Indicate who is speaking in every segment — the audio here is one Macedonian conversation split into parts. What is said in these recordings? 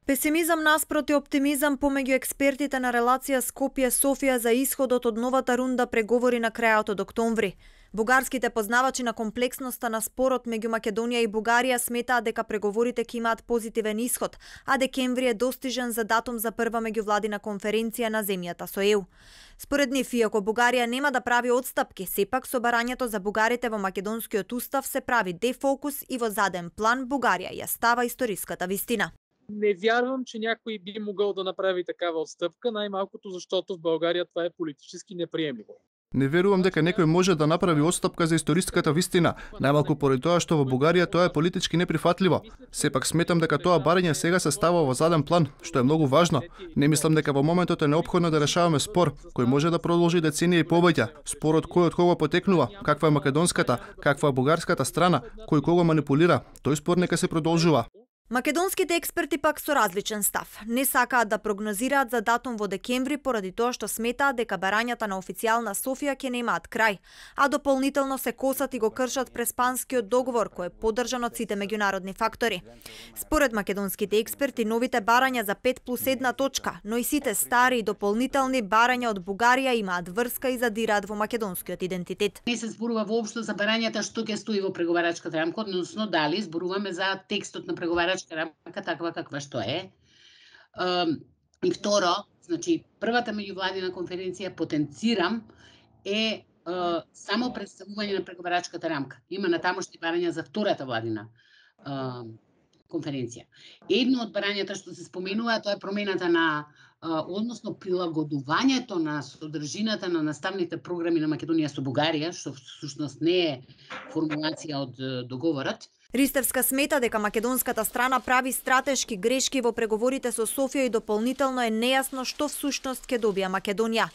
Speaker 1: Песимизам наспроти оптимизам помеѓу експертите на релација Скопје-Софија за исходот од новата рунда преговори на крајот од октомври. Бугарските познавачи на комплексноста на спорот меѓу Македонија и Бугарија сметаат дека преговорите ќе имаат позитивен исход, а декември е достижен за датум за прва меѓувладина конференција на земјата со ЕУ. Според нив, иако Бугарија нема да прави отстапки, сепак со барањето за бугарите во македонскиот устав се прави дефокус и во заден план Бугарија ја става историската вистина.
Speaker 2: Не вярвам, че някой би могъл да направи такава отстъпка, най-малкото защото в България това е политически неприемливо.
Speaker 3: Не верувам дека некој може да направи отстапка за историската вистина, најмалку поради тоа што во Бугарија тоа е политички неприфатливо. Сепак сметам дека тоа барање сега се става во заден план, што е многу важно. Не мислам дека во моментот е неопходно да решаваме спор кој може да продолжи деценија и повеќе. Спорот кој од кого потекнува, каква е македонската, каква е бугарската страна, кој кого манипулира, тој спор нека се продолжува.
Speaker 1: Македонските експерти пак со различен став. Не сакаат да прогнозираат за датум во декември поради тоа што сметаат дека барањата на официјална Софија ќе немаат крај, а дополнително се косат и го кршат преспанскиот договор кој е поддржан од сите меѓународни фактори. Според македонските експерти, новите барања за 5+1 точка, но и сите стари и дополнителни барања од Бугарија имаат врска и задираат во македонскиот идентитет.
Speaker 4: Не се зборува воопшто за барањата што ќе стои во преговарачката рамка, односно дали зборуваме за текстот на преговарачката рамка таква каква што е. И второ, значи првата меѓувладина конференција потенцирам е само представување на преговарачката рамка. Има натамошни барања за втората владина конференција. Едно од барањата што се споменува тоа е промената на односно прилагодувањето на содржината на наставните програми на Македонија со Бугарија, што всушност не е формулација од договорот.
Speaker 1: Ристевска смета дека македонската страна прави стратешки грешки во преговорите со Софија и дополнително е нејасно што всушност ќе добија Македонија.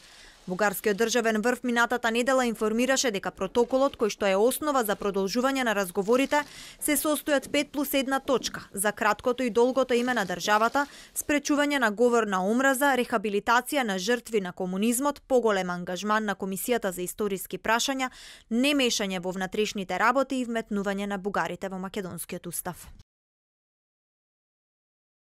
Speaker 1: Бугарскиот државен врв минатата недела информираше дека протоколот кој што е основа за продолжување на разговорите се состои од 5+1 точка за краткото и долгото име на државата, спречување на говор на омраза, рехабилитација на жртви на комунизмот, поголем ангажман на Комисијата за историски прашања, немешање во внатрешните работи и вметнување на бугарите во македонскиот устав.